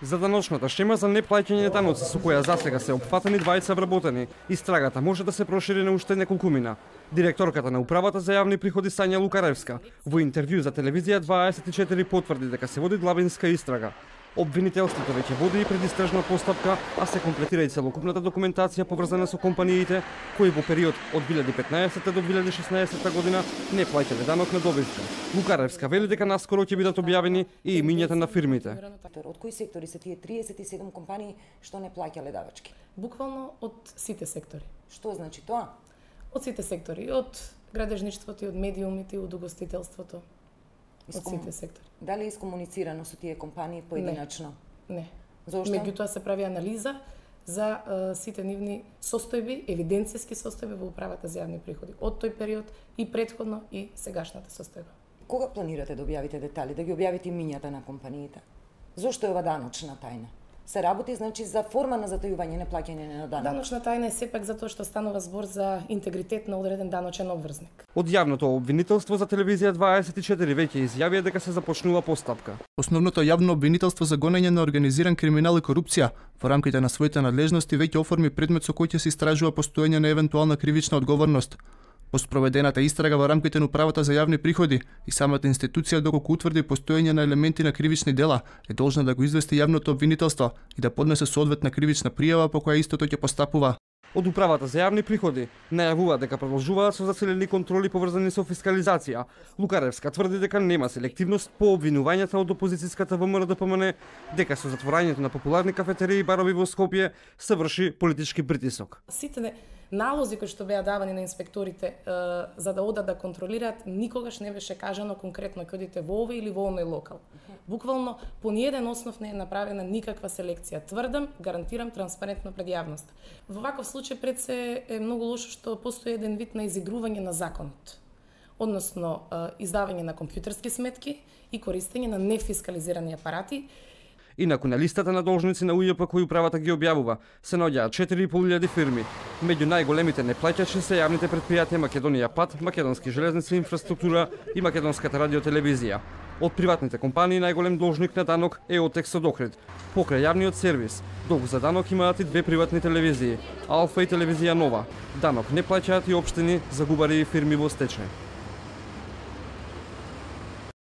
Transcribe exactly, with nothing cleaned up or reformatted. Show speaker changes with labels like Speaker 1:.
Speaker 1: За даночната шема за неплаќање даноци со која засега се опфатени двајца вработени, истрагата може да се прошири на уште неколкумина. Директорката на управата за јавни приходи Сања Лукаревска во интервју за телевизија дваесет и четири потврди дека се води длабинска истрага. Обвинителството веќе води и предистражна постапка, а се комплетира и целокупната документација поврзана со компаниите кои во период од две илјади и петнаесета до две илјади и шеснаесета година не плаќале данок на добивка. Лукаревска вели дека наскоро ќе бидат објавени и имињата на фирмите.
Speaker 2: Од кои сектори се тие триесет и седум компании што не плаќале давачки?
Speaker 3: Буквално од сите сектори.
Speaker 2: Што значи тоа?
Speaker 3: Од сите сектори, од градежништвото, и од медиумите, и од угостителството. Од сите сектори.
Speaker 2: Дали е искомуницирано со тие компании поединачно?
Speaker 3: Не. Не.
Speaker 2: Зошто?
Speaker 3: Меѓутоа се прави анализа за uh, сите нивни состојби, евиденцијски состојби во управата за јавни приходи од тој период и претходно и сегашната состојба.
Speaker 2: Кога планирате да објавите детали, да ги објавите имињата на компаниите? Зошто е ова даночна тајна? Се работи значи за форма на затајување неплаќање на данок.
Speaker 3: Даночна тајна е сепак затоа што станува збор за интегритет на одреден даночен обврзник.
Speaker 1: Од јавното обвинителство за телевизија дваесет и четири веќе изјавија дека се започнува постапка.
Speaker 4: Основното јавно обвинителство за гонење на организиран криминал и корупција во рамките на своите надлежности веќе оформи предмет со кој ќе се истражува постоење на евентуална кривична одговорност. По спроведената истрага во рамките на управата за јавни приходи и самата институција доколку утврди постоење на елементи на кривични дела е должна да го извести јавното обвинителство и да поднесе соодветна кривична пријава по која истото ќе постапува.
Speaker 1: Од управата за јавни приходи најавува дека продолжуваат со зацелени контроли поврзани со фискализација. Лукаревска тврди дека нема селективност по обвинувањата од опозицијската ВМРО-ДПМН, дека со затворањето на популарни кафетерии и барови во Скопје се врши политички притисок.
Speaker 3: Сите налози кои што беа давани на инспекторите е, за да одат да контролираат, никогаш не беше кажано конкретно ќе одите во овој или во оној локал. Буквално по ниеден основ не е направена никаква селекција. Тврдам, гарантирам транспарентно пред јавност. Во ваков случај пред се е многу лошо што постои еден вид на изигрување на законот. Односно, е, издавање на компјутерски сметки и користење на нефискализирани апарати.
Speaker 1: Инаку на листата на должници на УЈП кои управата ги објавува се наоѓаат четири и пол илјади фирми. Меѓу најголемите неплаќачи се јавните предпријатија Македонија Пат, Македонски железници инфраструктура и Македонската радиотелевизија. Од приватните компании најголем должник на данок е Отекс од Охрид. Покрај јавниот сервис, долг за данок имаат и две приватни телевизии, Алфа и телевизија Нова. Данок не плаќаат и општини, загубари и фирми во стечај.